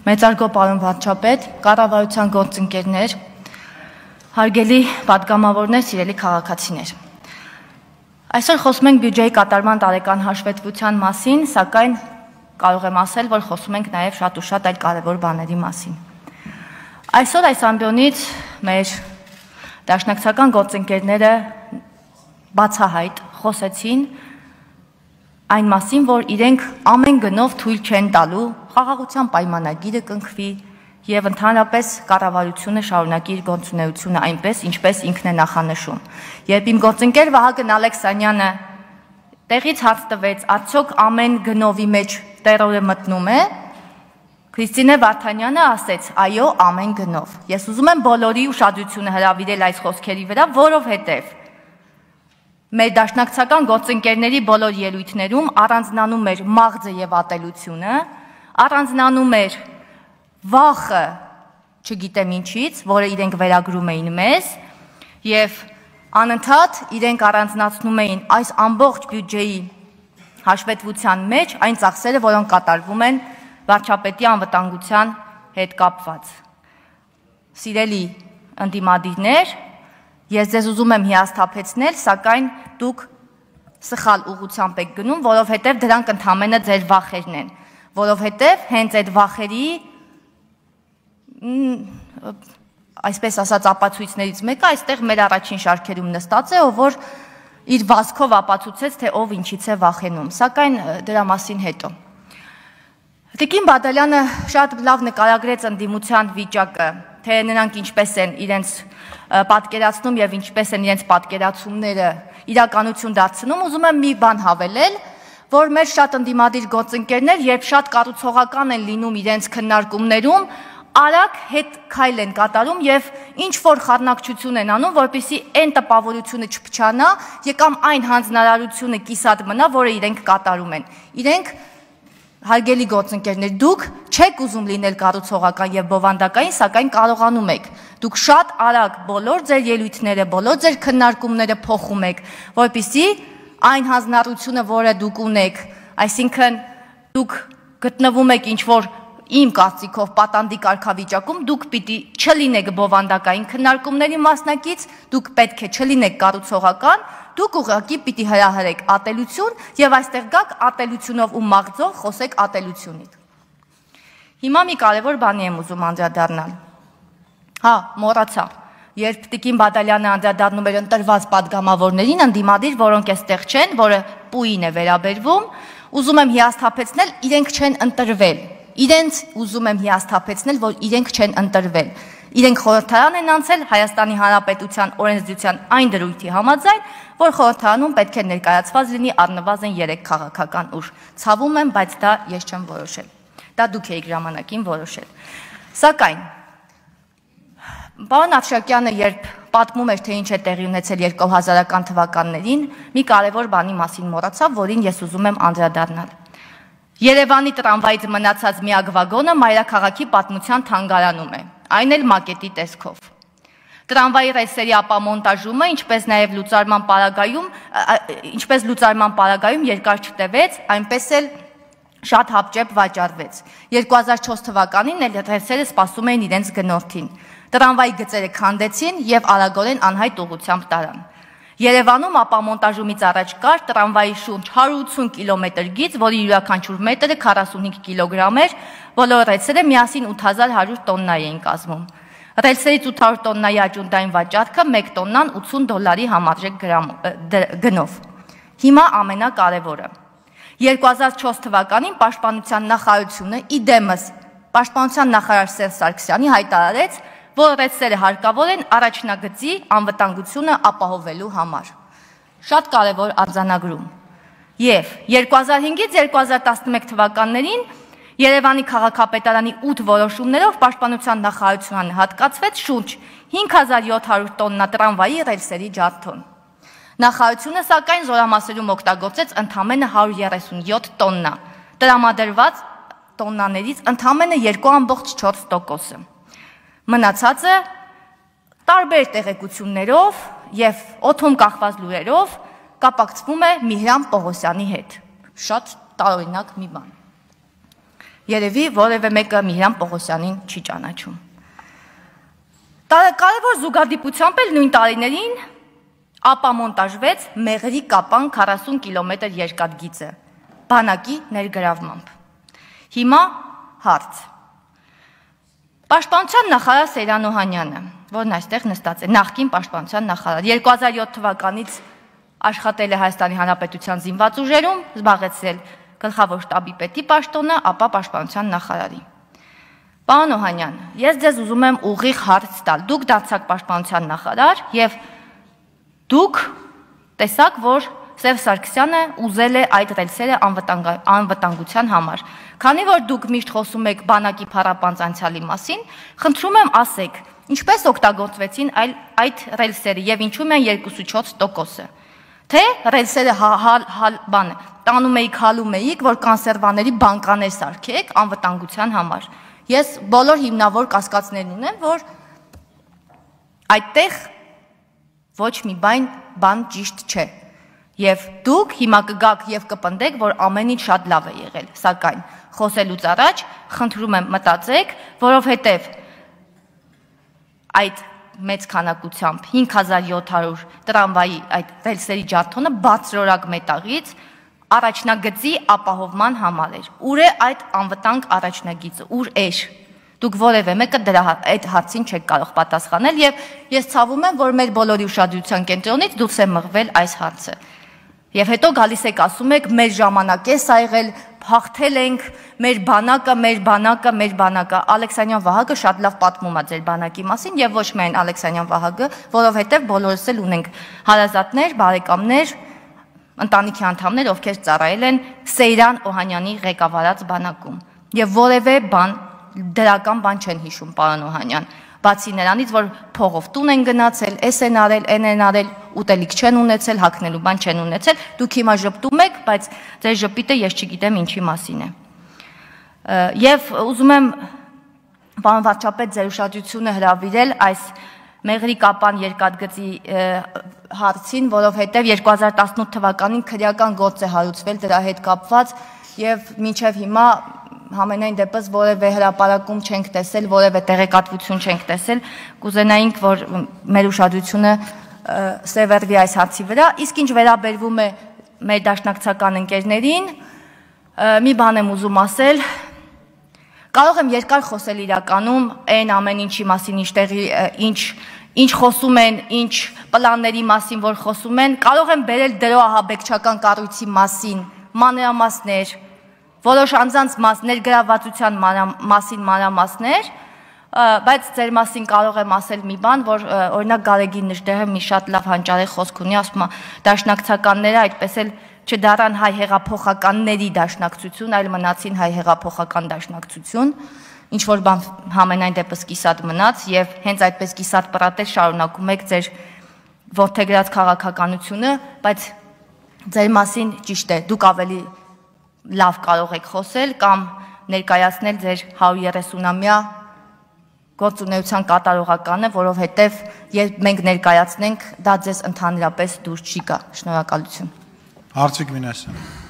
Մեծարգո պարոն վարչապետ, կառավարության գործընկերներ, հարգելի պատգամավորներ, սիրելի քաղաքացիներ։ Այսօր խոսում ենք բյուջեի կատարման տարեկան հաշվետվության մասին, սակայն կարող եմ ասել, որ խոսում ենք նաև շատ ու շատ այլ կարևոր բաների մասին։ Այսօր այս ամբիոնից մեր դաշնակցական գործընկերները բացահայտ խոսեցին այն մասին, որ իրենք ամեն գնով թույլ չեն տալու խաղաղության պայմանագիրը կնքվի եւ ընդհանրապես կառավարությունը շարունակի իր գործունեությունը այնպես, ինչպես ինքն է նախանշում։ Երբ իմ գործընկեր Վահագն Ալեքսանյանը տեղից հարց տվեց, արդյոք ամեն գնովի մեջ տերորը մտնում է, Քրիստինե Վարդանյանը ասեց, այո, ամեն գնով։ Ես ուզում եմ բոլորի ուշադրությունը հրավիրել այս խոսքերի վրա, որովհետեւ մեր դաշնակցական գործընկերների բոլոր ելույթներում առանձնանում էր մաղձը եւ ատելությունը, առանձնանում էր վախը, չգիտեմ ինչից, որը իրենք վերագրում էին մեզ, եւ անընդհատ իրենք առանձնացնում էին այս ամբողջ բյուջեի հաշվետվության մեջ այն ծախսերը, որոնք կատարվում են վարչապետի անվտանգության հետ կապված։ Սիրելի ընդդիմադիրներ, ես ձեզ ուզում եմ հիասթափեցնել, սակայն դուք սխալ ուղղությամբ եք գնում, որովհետև դրանք ընդամենը ձեր վախերն են, որովհետև հենց այդ վախերի, այսպես ասած, ապացույցներից մեկը այստեղ մեր առաջին շարքերում նստած է, ով որ իր վազքով ապացուցեց, թե ով ինչից է վախենում, սակայն դրա մասին հետո։ Տիկին Բադալյանը շատ լավ նկարագրեց ընդդիմության վիճակը, թե նրանք ինչպես են իրենց պատկերացնում եւ ինչպես են իրենց պատկերացումները իրականություն դարձնում, ուզում եմ մի բան հավելել, որ մեր շատ ընդդիմադիր գործընկերներ, երբ շատ կառուցողական են լինում իրենց քննարկումներում, արագ հետ քայլ են կատարում եւ ինչ որ խառնակցություն են անում, որպեսզի այն տպավորությունը չփչանա, կամ այն հանձնարարությունը կիսատ մնա, որը իրենք կատարում են։ Իրենք Հարգելի գործընկերներ, դուք չեք ուզում լինել կառուցողական եւ բովանդակային, սակայն կարողանում եք։ Դուք շատ արագ բոլոր ձեր ելույթները, բոլոր ձեր քննարկումները փոխում եք, որպեսզի այն հանձնարարությունը, որը դուք ունեք, այսինքն դուք գտնվում եք ինչ որ իմ կարծիքով պատանդի կարգավիճակում, դուք պիտի չլինեք բովանդակային քննարկումների մասնակից, դուք պետք է չլինեք կառուցողական, դուք ուղղակի պիտի հրահրեք ատելություն եւ այստեղ գաք ատելությունով ու մաղձով խոսեք ատելությունից։ Հիմա մի կարևոր բանի եմ ուզում անդրադառնալ։ Հա, մոռացա։ Երբ Տիկին Բադալյանը անդրադառնում էր ընտրված պատգամավորներին, ընդդիմադիր, որոնք այստեղ չեն, որը պուին է վերաբերվում, ուզում եմ հիասթափեցնել, իրենք չեն ընտրվել։ Իրենց ուզում եմ հիասթափեցնել, որ իրենք չեն ընտրվել։ Իրենք խորհրդարան են անցել Հայաստանի Հանրապետության օրենսդրության այն դրույթի համաձայն, որ խորհրդարանում պետք է ներկայացված լինի առնվազն 3 քաղաքական ուժ։ Ցավում եմ, բայց դա ես չեմ որոշել։ Դա դուք եք ժամանակին որոշել։ Սակայն պարոն Աթշակյանը, երբ պատմում էր, թե ինչ է տեղի ունեցել 2000-ական թվականներին, մի կարևոր բանի մասին մոռացավ, որին ես ուզում եմ անդրադառնալ։ Երևանի տրամվայից մնացած միակ վագոնը մայրաքաղաքի պատմության թանգարանում է, այն էլ մակետի տեսքով։ Տրամվայի ռելսերի ապամոնտաժումը, ինչպես նաև լուծարման պարագայում երկար չտևեց, այնպես էլ շատ հապճեպ վաճառվեց։ 2004 թվականին ռելսերը սպասում էին իրենց գնորդին։ Տրամվայի գծերը քանդեցին եւ արագորեն անհայտ ուղղությամբ տարան։ Երևանում ապամոնտաժումից առաջ կար տրամվայի շուրջ 180 կիլոմետր գիծ, որի յուրաքանչյուր մետրը 45 կիլոգրամ էր, բոլոր ռելսերը միասին 8100 տոննա էին կազմում։ Ռելսերից 800 տոննայի աճունդային վաճառքը 1 տոննան $80 համարժեք գնով։ Հիմա ամենակարևորը։ 2004 թվականին Պաշտպանության նախարարությունը իդեմս Պաշտպանության նախարար Սերժ Սարգսյանի հայտարարեց, որ ռելսերը հարկավոր են առաջնագծի անվտանգությունը ապահովելու համար։ Շատ կարևոր արձանագրում։ Եվ 2005-ից 2011 թվականներին Երևանի քաղաքապետարանի 8 որոշումներով Պաշտպանության նախարարությանը հատկացվեց շուրջ 5700 տոննա տրամվայի ռելսերի ջարդոն։ Նախարարությունը սակայն զորամասերում օգտագործեց ընդամենը 137 տոննա, տրամադրված տոննաներից ընդամենը 2.4%-ը։ Մնացածը տարբեր տեղեկություններով եւ օդում կախված լուրերով կապակցվում է Միհրան Պողոսյանի հետ։ Շատ տարօրինակ մի բան։ Երևի որևէ մեկը Միհրան Պողոսյանին չի ճանաչում։ Կարևոր զուգադիպությամբ էլ նույն տարիներին ապամոնտաժվեց Մեղրի Կապան 40 կիլոմետր երկաթգիծը բանակի ներգրավմամբ։ Հիմա հարց։ Պաշտպանության նախարար Սեյրան Օհանյանը, որն այստեղ նստած է, նախկին պաշտպանության նախարար, 2007 թվականից աշխատել է Հայաստանի Հանրապետության զինված ուժերում, զբաղեցրել գլխավոր շտաբի պետի պաշտոնը, ապա պաշտպանության նախարարի։ Պարոն Օհանյան, ես ձեզ ուզում եմ ուղիղ հարց տալ։ Դուք դարձաք պաշտպանության նախարար եւ դուք տեսաք, որ Սերժ Սարգսյանը ուզել է այդ ռելսերը անվտանգության համար։ Քանի որ դուք միշտ խոսում եք բանակի փառապանծ անցյալի մասին, խնդրում եմ ասեք, ինչպես օգտագործվեցին այդ ռելսերը եւ ինչու են 2.4%-ը։ Թե ռելսերը տանում էիք, հալում էիք, որ կոնսերվաների բանկաներ սարքեք անվտանգության համար։ Ես բոլոր հիմնավոր կասկածներն ունեմ, որ այդտեղ ոչ մի բան ճիշտ չէ։ Եվ դուք հիմա կգաք եւ կպնդեք, որ ամեն ինչ շատ լավ է եղել, սակայն խոսելուց առաջ խնդրում եմ մտածեք, որովհետեւ այդ մեծ քանակությամբ 5700 տրամվայի այդ ռելսերի ջարդոնը բարձրորակ մետաղից առաջնագծի ապահովման համար էր։ Ուր է այդ անվտանգ առաջնագիծը, ուր էր։ Դուք որևէ մեկը դրա այդ հարցին չեք կարող պատասխանել եւ ես ցավում եմ, որ մեր բոլորի ուշադրության կենտրոնից դուրս է մղվել այս հարցը։ Եվ հետո գալիս եք ասում եք մեր ժամանակ է սա եղել, հաղթել ենք, մեր բանակը, Ալեքսանյան Վահագը շատ լավ պատմում է ձեր բանակի մասին եւ ոչ միայն Ալեքսանյան Վահագը, որովհետեւ բոլորս էլ ունենք հարազատներ, բարեկամներ, ընտանիքի անդամներ, ովքեր ծառայել են Սեյրան Օհանյանի ղեկավարած բանակում։ Եվ որևէ դրական բան չեն հիշում, պարոն Օհանյան, բացի նրանից, որ փողով տուն են գնացել, էս են արել, են արել, ուտելիք չեն ունեցել, հագնելու բան չեն ունեցել, դուք հիմա ժպտում եք, բայց ձեր ժպիտը ես չգիտեմ ինչի մասին է։ Եվ ուզում եմ, պարոն վարչապետ, ձեր ուշադրությունը հրավիրել այս Մեղրի Կապան երկաթգծի հարցին, որովհետև 2018 թվականին քրեական գործ է հարուցվել դրա հետ կապված եւ մինչեւ հիմա համենայն դեպս որևէ հրապարակում չենք տեսել, որևէ տեղեկատվություն չենք տեսել, կուզենայինք, որ մեր ուշադրությունը սևեռվի այս հարցի վրա, իսկ ինչ վերաբերվում է մեր դաշնակցական ընկերներին, մի բան եմ ուզում ասել, կարող եմ երկար խոսել իրականում այն ամեն ինչի մասին, ինչ խոսում են, ինչ պլանների մասին, որ խոսում են, կարող եմ բերել դրոահաբեկչական կառույցի մասին մանրամասներ, որոշ անձանց ներգրավվածության մասին մանրամասներ, բայց ձեր մասին կարող եմ ասել մի բան, որ օրինակ Գարեգին Նժդեհը մի շատ լավ հանճարեղ խոսք ունի, ասում է դաշնակցականները այդպես էլ չդառան հայ հեղափոխականների դաշնակցություն, այլ մնացին հայ հեղափոխական դաշնակցություն, ինչ որ բան համենայն դեպս կիսատ մնաց եւ հենց այդպես կիսատ պրատել շարունակում եք ձեր որդեգրած քաղաքականությունը, բայց ձեր մասին ճիշտ է, դուք ավելի լավ կարող եք խոսել կամ ներկայացնել ձեր 130-ամյա գործունեության կատարողականը, որովհետև երբ մենք ներկայացնենք, դա ձեզ ընդհանրապես դուր չի գա։ Շնորհակալություն։ Հարցիկ Մինասյան։